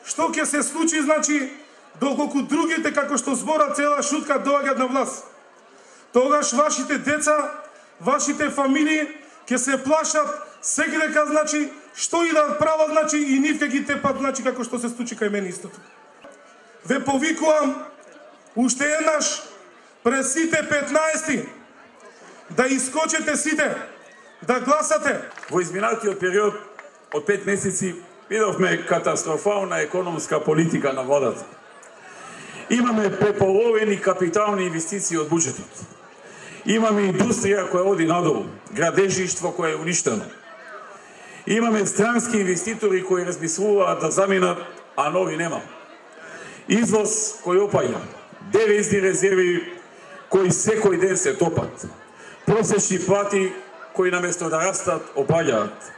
што ќе се случи, значи, доколку другите, како што збора цела шутка, доаѓат на власт. Тогаш вашите деца, вашите фамилии ќе се плашат секој дека, значи, што и да прават, значи, и нив ќе ги тепат, значи, како што се случи кај мене истото. Ве повикувам уште еднаш пред сите 15 да искочите сите, да гласате. Во изминатиот период од 5 месеци видовме катастрофална економска политика на владата. Имаме преполовени капитални инвестиции од буџетот. Имаме индустрија која оди надолу, градежништво кое е уништено. Имаме странски инвеститори кои размислуваат да заминат, а нови нема. Извоз кој опаѓа, девизни резерви кои секој ден се топат, просечни плати кои наместо да растат опаѓаат.